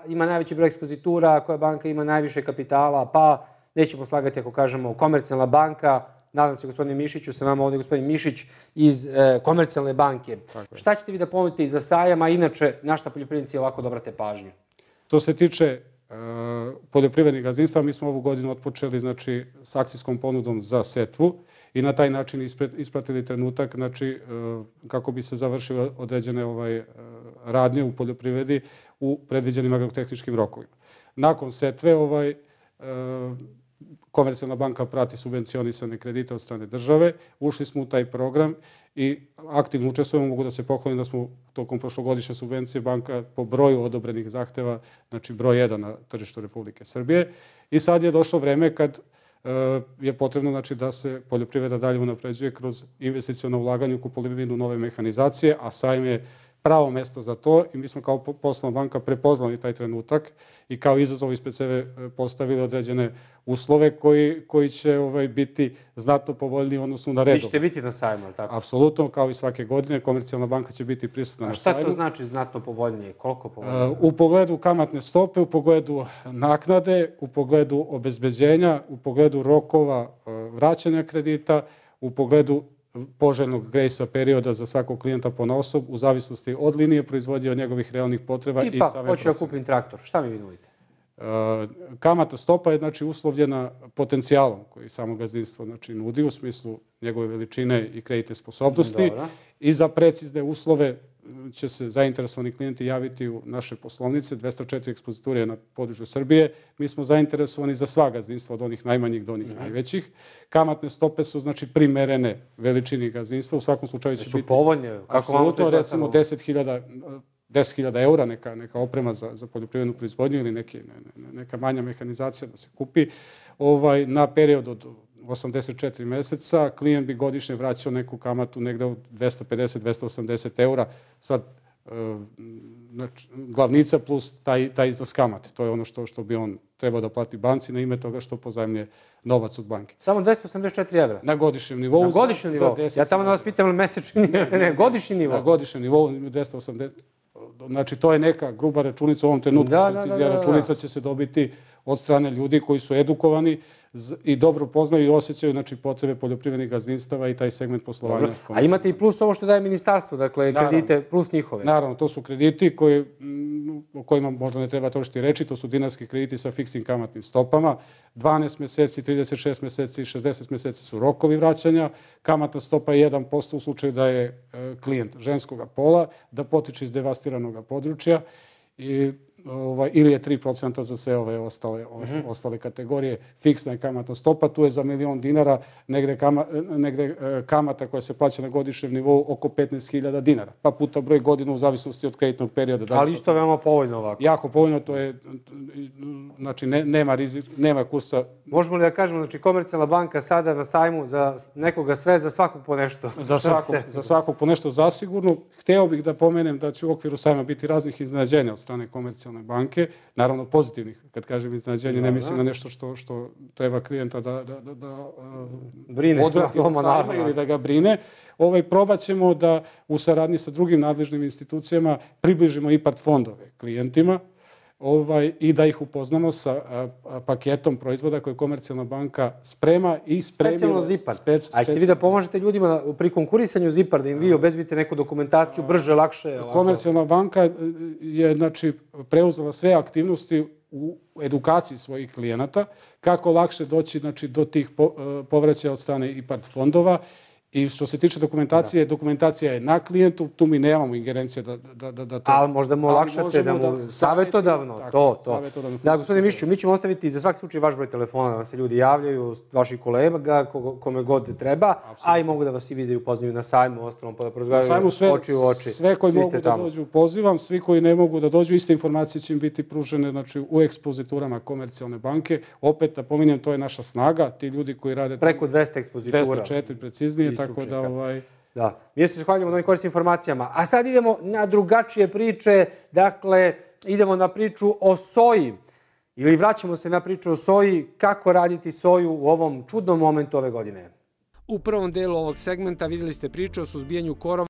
ima najveći broj ekspozitura, koja banka ima najviše kapitala, pa nećemo slagati ako kažemo Komercijalna banka. Nadam se, gospodine Mišiću, sa nama ovdje gospodin Mišić iz Komercijalne banke. Šta ćete vi da ponudite i za sajam, a inače na šta poljoprivrednici ovako dobrate pažnju? Što se tiče poljoprivrednih gazdinstva, mi smo ovu godinu otpočeli s akcijskom ponudom za setvu i na taj način ispratili trenutak kako bi se završile određene radnje u poljoprivredi u predviđenim agrotehničkim rokovima. Nakon setve Komercijalna banka prati subvencionisane kredite od strane države. Ušli smo u taj program i aktivno učestvujemo. Mogu da se pohvalim da smo tokom prošlogodišnje subvencije banka po broju odobrenih zahteva, znači broj 1 na tržištu Republike Srbije. I sad je došlo vreme kad je potrebno da se poljoprivreda dalje unapređuje kroz investiciono ulaganje u kupovinu nove mehanizacije, a sajam je pravo mesto za to i mi smo kao poslovna banka prepoznali taj trenutak i kao izazov ispred sebe postavili određene uslove koji će biti znatno povoljniji u odnosu na redovno. Vi ćete biti na sajmu, ali tako? Apsolutno, kao i svake godine, Komercijalna banka će biti prisutna na sajmu. A šta to znači znatno povoljnije? Koliko povoljnije? U pogledu kamatne stope, u pogledu naknade, u pogledu obezbeđenja, u pogledu rokova vraćanja kredita, u pogledu poželjnog grejsa perioda za svakog klijenta ponaosob, u zavisnosti od linije proizvodnje, od njegovih realnih potreba. I pa, hoću da kupim traktor. Šta mi vi nudite? Kamatna stopa je uslovljena potencijalom koji samo gazdinstvo nudi u smislu njegove veličine i kreditne sposobnosti. I za precizne uslove će se zainteresovani klijenti javiti u naše poslovnice, 204 ekspoziture na području Srbije. Mi smo zainteresovani za sva gazdinstva, od onih najmanjih do onih najvećih. Kamatne stope su primerene veličini gazdinstva. U svakom slučaju će biti... Su povoljne? Apsolutno, recimo 10.000 eura neka oprema za poljoprivrednu proizvodnju ili neka manja mehanizacija da se kupi na period od 84 meseca, klijent bi godišnje vraćao neku kamatu negde od 250-280 eura. Sad, glavnica plus taj iznos kamate. To je ono što bi on trebao da plati banci na ime toga što pozajmlje novac od banke. Samo 284 evra? Na godišnjem nivou. Na godišnjem nivou? Ja tamo da vas pitam mesečni nivou. Ne, godišnji nivou. Na godišnjem nivou 280. Znači, to je neka gruba računica u ovom trenutku. Precizija računica će se dobiti od strane ljudi koji su edukovani i dobro poznaju i osjećaju potrebe poljoprivrednih gazdinstava i taj segment poslovanja. A imate i plus ovo što daje ministarstvo, dakle kredite plus njihove. Naravno, to su krediti o kojima možda ne treba trošiti reči, to su dinarski krediti sa fiksnim kamatnim stopama. 12 meseci, 36 meseci i 60 meseci su rokovi vraćanja. Kamatna stopa je 1% u slučaju da je klijent ženskog pola, da potiče iz devastiranog područja ili je 3% za sve ove ostale kategorije. Fiksna je kamatna stopa, tu je za $1.000.000 negde kamata koja se plaća na godišnjem nivou oko 15.000 dinara, pa puta broj godina u zavisnosti od kreditnog perioda. Ali isto veoma povoljno ovako. Jako povoljno, to je, znači nema kursa. Možemo li da kažemo, znači Komercijalna banka sada na sajmu za nekoga sve, za svakog po nešto? Za svakog po nešto zasigurno. Hteo bih da pomenem da će u okviru sajma biti raznih iznenađenja od strane Komercijalne banke, naravno pozitivnih. Kad kažem iznenađenje, ne mislim na nešto što treba klijenta da odvrati od sajma ili da ga brine. Probat ćemo da u saradnji sa drugim nadležnim institucijama približimo IPARD fondove klijentima i da ih upoznamo sa paketom proizvoda koje Komercijalna banka sprema i spremila. Specijalno za IPARD. A ćete vi da pomožete ljudima pri konkurisanju za IPARD, da im vi obezbedite neku dokumentaciju brže, lakše? Komercijalna banka je preuzela sve aktivnosti u edukaciji svojih klijenata, kako lakše doći do tih povraćaja od strane IPARD fondova. I što se tiče dokumentacije, dokumentacija je na klijentu, tu mi nemamo ingerencije da to... Ali možda mu olakšate da mu savjetodavno, to. Da, gospodine Mišiću, mi ćemo ostaviti za svaki slučaj vaš broj telefona, da vam se ljudi javljaju, vaših kolega, kome god treba, a i mogu da vas i vide i upoznaju na sajmu, ostalom, pa da porazgovaraju oči u oči. Sve koji mogu da dođu pozivam, svi koji ne mogu da dođu, iste informacije će im biti pružene u ekspoziturama Komercijalne banke. Opet, da pominjem, to je naša snaga, ti ljudi koji rade... Preko 200 ekspozitura. 204, preciznije. Tako da, mi se zahvaljujemo na ovim korisnim informacijama. A sad idemo na drugačije priče, dakle, idemo na priču o soji. Ili vraćamo se na priču o soji, kako raditi soju u ovom čudnom momentu ove godine. U prvom delu ovog segmenta vidjeli ste priču o suzbijanju korova